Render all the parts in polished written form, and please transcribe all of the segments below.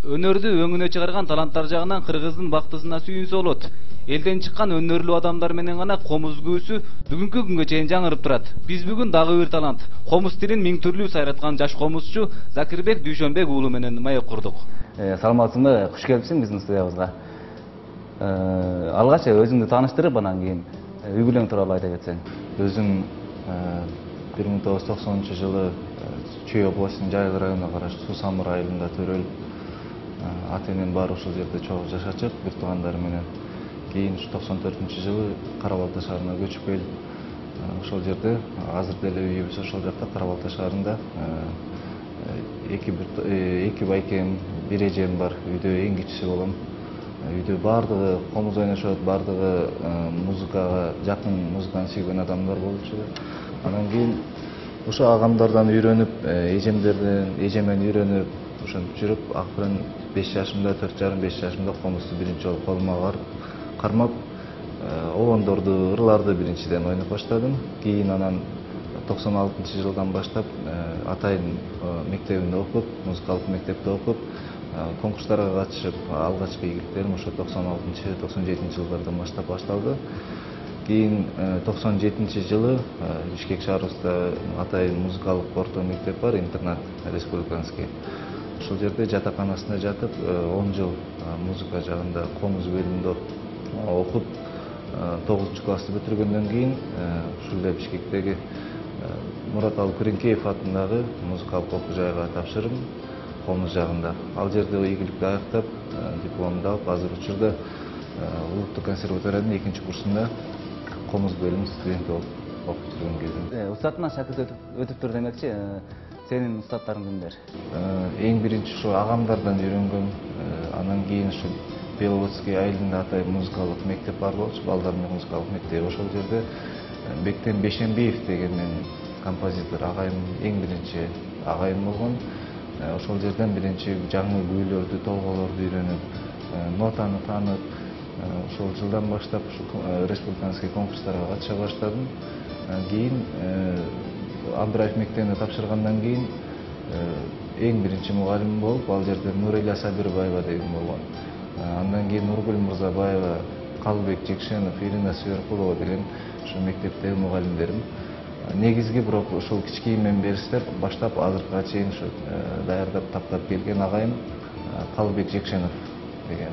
Өнөрдү өңүнө чыгарган таланттар жагынан кыргыздын бактысына сүйүнсө болот. Элден чыккан өнөрлүү адамдар менен гана комуз күүсү бүгүнкү күнгө чейин жаңырып турат. Биз бүгүн дагы бир талант, комуз тилин миң түрлүү сайраткан жаш комузчу Закирбек Дүйшөнбек уулу менен маек курдук. Саламатсыңбы? Куш келипсиң биздин студиябызга. Алгач өзүңдү тааныштырып, анан кийин үй бүлөң тууралуу айта кетсең. Өзүм 1990-жылы Чүй областынын Жайыл районуна караштуу Суу Самыр айылында төрөлүп, ата-энем баары ушул жерде чогуу жашачак, бир туугандары менен. Кийин 94-жылы Кара Балта шаарына көчүп келип, ошол жерде азыр деле үйүбүз ошол жакта Кара Балта шаарында. Эки байкем, бир эжем бар. Үйдө эң кичиси болом. Үйдө баардыгы комуз ойношот, баардыгы музыкага жакын, музыканы сүйгөн адамдар болчу. Анан кийин ошо агамдардан үйрөнүп, эжемден үйрөнүп, ошентип жүрүп, акырын 5 жашымда, 4,5-5 жашымда комузду биринчи жолу колума кармап, обондорду, ырларды биринчиден ойноп баштадым. Кийин анан 96-жылдан баштап атайын мектебинде окуп, музыкалык мектепте окуп, конкурстарга катышып, алгачкы ийгиликтерим ошо 96-97-жылдардан баштап башталды. Кийин 97-жылы Бишкек шаарыбызда атайын музыкалык орто мектеп бар, интернат республиканский. Ошол жерде жатаканасында жатып, 10 жыл музыка жагында комуз бөлүмүндө окуп, 9-классты бүтүргөндөн кийин ушул эле Бишкектеги Мураталы Күреңкеев атындагы музыкалык окуу жайга тапшырдым, комуз жагында. Ал жерде ийгиликти аяктап, дипломду алып, азыр учурда Улуттук консерваториянын 2-курсунда комуз бөлүмү студенти болуп окуп жүргөн кезим. Устатынан шакирт өтүптүр демекчи. Сенин устаттарың кимдер? Эң биринчи ушу агамдардан үйрөнгөм. Анан кийин ушу Беловодский айылында атайын музыкалык мектеп бар болчу, балдардын музыкалык мектеби. Ошол жерде Бектен Бешембиев деген менин композитор агайым, эң биринчи агайым болгон. Ошол жерден биринчи жаңы күүлөрдү, толголорду үйрөнүп, нотаны таанып, ошол жылдан баштап республиканский конкурстарга катыша баштадым. Кийин Абдраев мектебине тапшыргандан кийин эң биринчи мугалим болуп, ал жерде Нурила Сабирбаева деген болгон. Андан кийин Нургүл Мырзабаева, Калыбек Жекшенов, Ирина Сверкулова деген ушу мектептеги мугалимдерим. Негизги бирок ушул кичкийимден баштап азыркыга чейин ушу даярдап таптап келген агайым Калыбек Жекшенов деген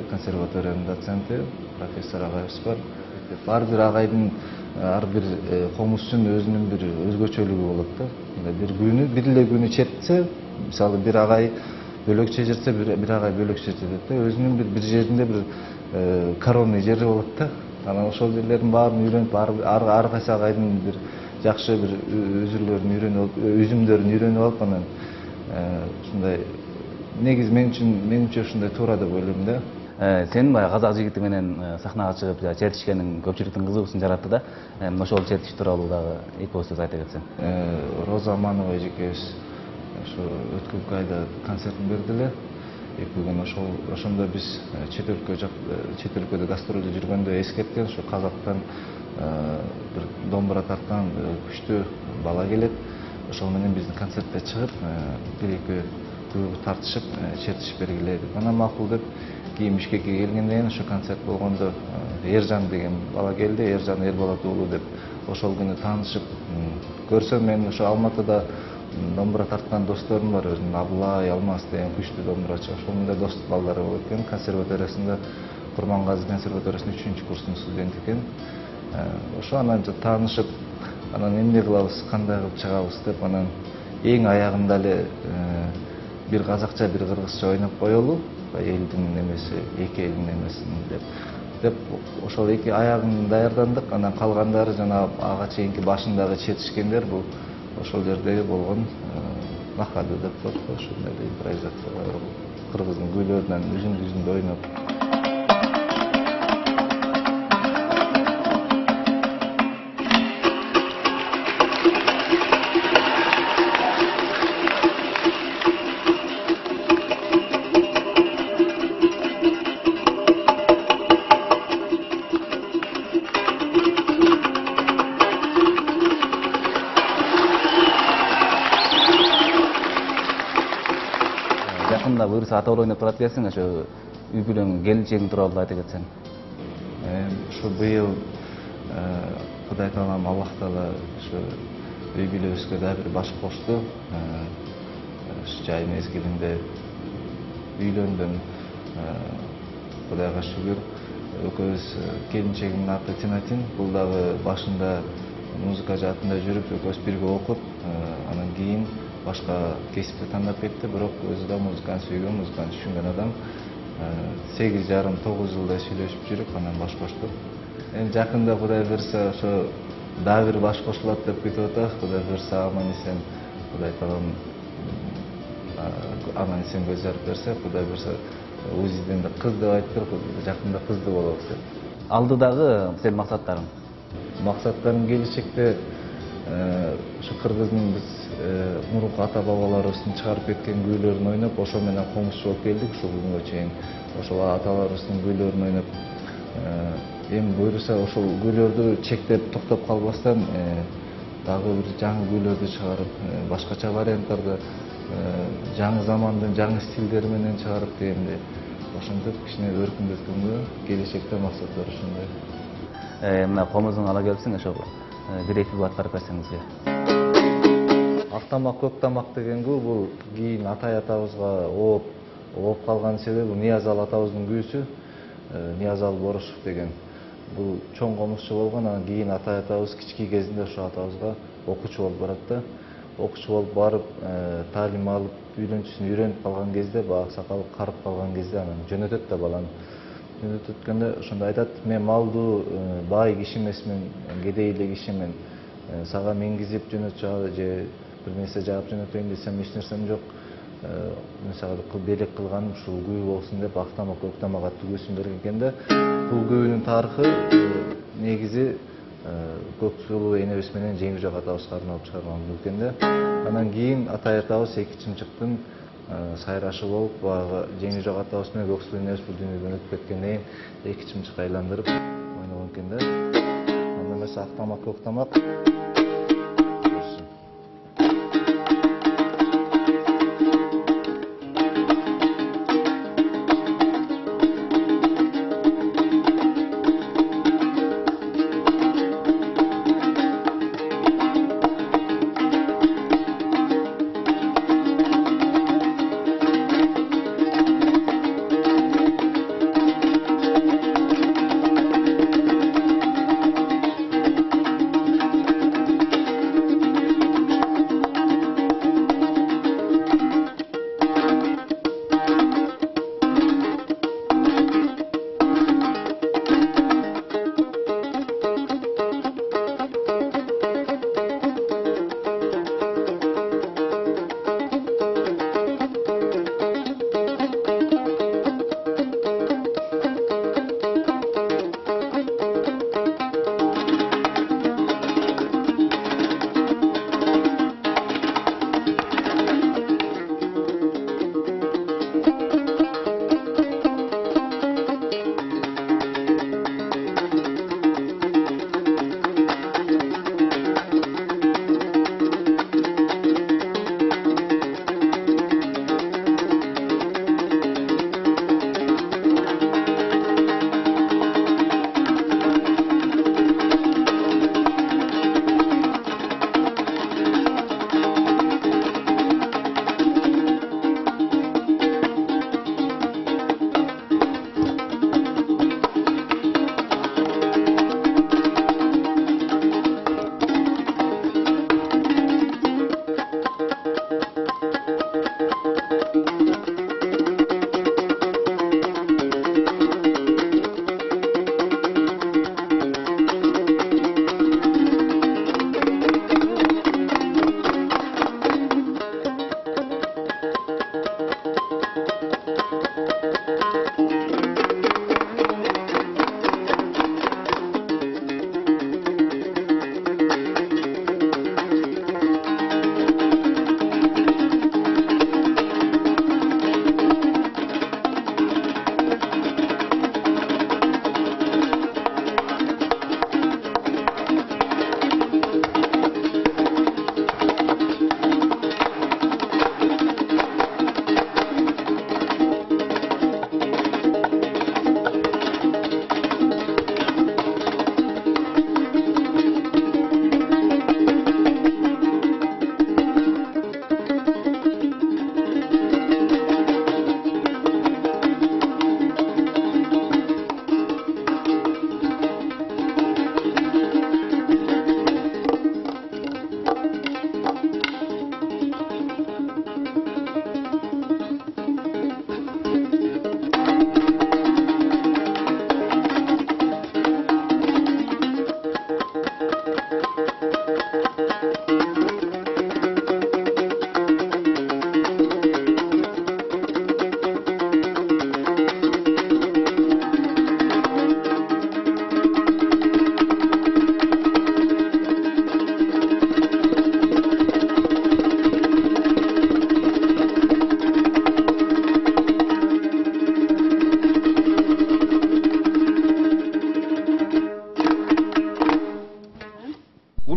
консерваториянын доценти, профессор агайыбыз бар. Ар бир агайдын, ар бир комузчунун өзүнүн бир өзгөчөлүгү болот да. Бир эле күнү чертсе, мисалы бир агай бөлөкчө чертсе, бир агай бөлөкчө чертет да. Өзүнүн бир жеринде бир коронный жери болот да. Анан ошол жерлердин баарын үйрөнүп, ар кайсы агайдын бир жакшы бир үзүмдөрүн үйрөнүп алып, анан ушундай негизи менимче ушундай туура деп ойлойм да. Сенин баягы казак жигити менен сахнага чыгып чертишкениң көпчүлүктүн кызыгуусун жаратты да. Ошол чертиш тууралуу дагы эки сөз айта кетсең. Роза Аманова эжекебиз ошо өткөнкү айда концертин берди эле. 2 күн ошондо биз чет өлкөдө гастролдо жүргөндө эскерткен, ошо казактан бир домбура тарткан күчтүү бала келет. Ошол менен биздин концертке чыгып, бир-эки күйгү тартышып, чертишип бергиле деп. Анан макул деп, кийин Бишкекке келгенден кийин ошо концерт болгондо Эржан деген бала келди, Эржан Эрболот уулу деп. Ошол күнү таанышып, көрсөм мен ошо Алматыда домбура тарткан досторум бар, өзүнүн Абылай, Алмаз деген күчтүү домбурачы. Ошонун да достук балдары болуп экен. Консерваториясында Курмангазы консерваториясынын 3-курсунун студенти экен. Ошо анан таанышып, анан эмне кылабыз, кандай кылып чыгабыз деп, анан эң аягында эле бир казакча, бир кыргызча ойноп коелу, элдин эмеси, эки элдин эмесин деп ошол эки аягын даярдандык. Анан калгандары жана ага чейинки башындагы чертишкендер бул ошол жердеги болгон нахады деп коет го, ошондой импровизация кыргыздын күүлөрүнөн үзүндү ойноп. жакында буюрса ата бала ойноп барат экенсиң, ошо үй бүлөң, келинчегиң тууралуу айта кетсең. Ушу быйыл Кудай таалам, Аллах таала ушу үй бүлөбүзгө да бир баш кошту. Жай мезгилинде үйлөндүм. Кудайга шүгүр. Экөөбүз келинчегимдин аты Тинатин. Бул дагы башында музыка жаатында жүрүп, экөөбүз бирге окуп, анан кийин башка кесипти тандап кетти. Бирок өзү да музыканы сүйгөн, музыканы түшүнгөн адам. 8,5-9 жылдай сүйлөшүп жүрүп, анан баш коштук. Эми жакында Кудай буйрса ошо дагы бир баш кошулат деп күтүп атабыз. Кудай буйрса аман эсен, Кудай таалам аман эсен көз жарып берсе, Кудай буйрса УЗИден да кыз деп айтыптыр, жакында кыздуу болобуз деп. Алдыдагы сенин максаттарың? Максаттарым келечекте ушу кыргыздын биз мурунку ата бабаларыбыздын чыгарып кеткен күүлөрүн ойноп, ошо менен комузчу болуп келдик ушул күнгө чейин. Ошол аталарыбыздын күүлөрүн ойноп, эми буйрса ошол күүлөрдү чектеп токтоп калбастан дагы бир жаңы күүлөрдү чыгарып, башкача варианттарды жаңы замандын жаңы стилдери менен чыгарып дегенде, ошентип кичине өркүндөткөнгө келечекте максаттар ошондой. Мына комузуңду ала келипсиң, ошо бир эки аткарып берсең бизге. Ак тамак, көк тамак деген күү бул кийин атай атабызга ооп калган себеби Ниязал атабыздын күүсү, Ниязал Борошов деген. Бул чоң комузчу болгон, анан кийин атай атабыз кички кезинде ошо атабызга окуучу болуп барат да. Окуучу болуп барып, таалим алып, үйлөнчүсүн үйрөнүп калган кезде, баягы сакалы карып калган кезде анан жөнөтөт да баланы. Жөнөтөткөндө ошондо айтат: "Мен малдуу бай киши эмесмин, кедей эле кишимин. Сага мингизип жөнөтчү же бир нерсе жаап жөнөтөйүн десем эч нерсем жок. Мен сага белек кылганым ушул күү болсун" деп ак тамак, көк тамак аттуу күүсүн берген экен да. Бул күүнүн тарыхы негизи Көксулуу энебиз менен Жеңишжок атабызга арналып чыгарылган күү экен да. Анан кийин атай атабыз эки чымчыктын сайрашы болуп, баягы Жеңишжок атабыз менен Көксулуу энебиз бул дүйнөдөн өтүп кеткенден кийин эки чымчык айландырып ойногон экен да. Анда эмесе ак тамак, көк тамак.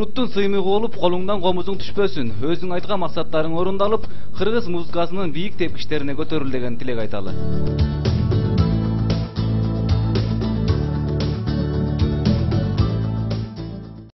Уруттун сыймыгы болуп, колуңдан комузуң түшпөсүн. Өзүң айткан максаттарың орундалып, кыргыз музыкасынын бийик тепкичтерине көтөрүл деген тилек айталы.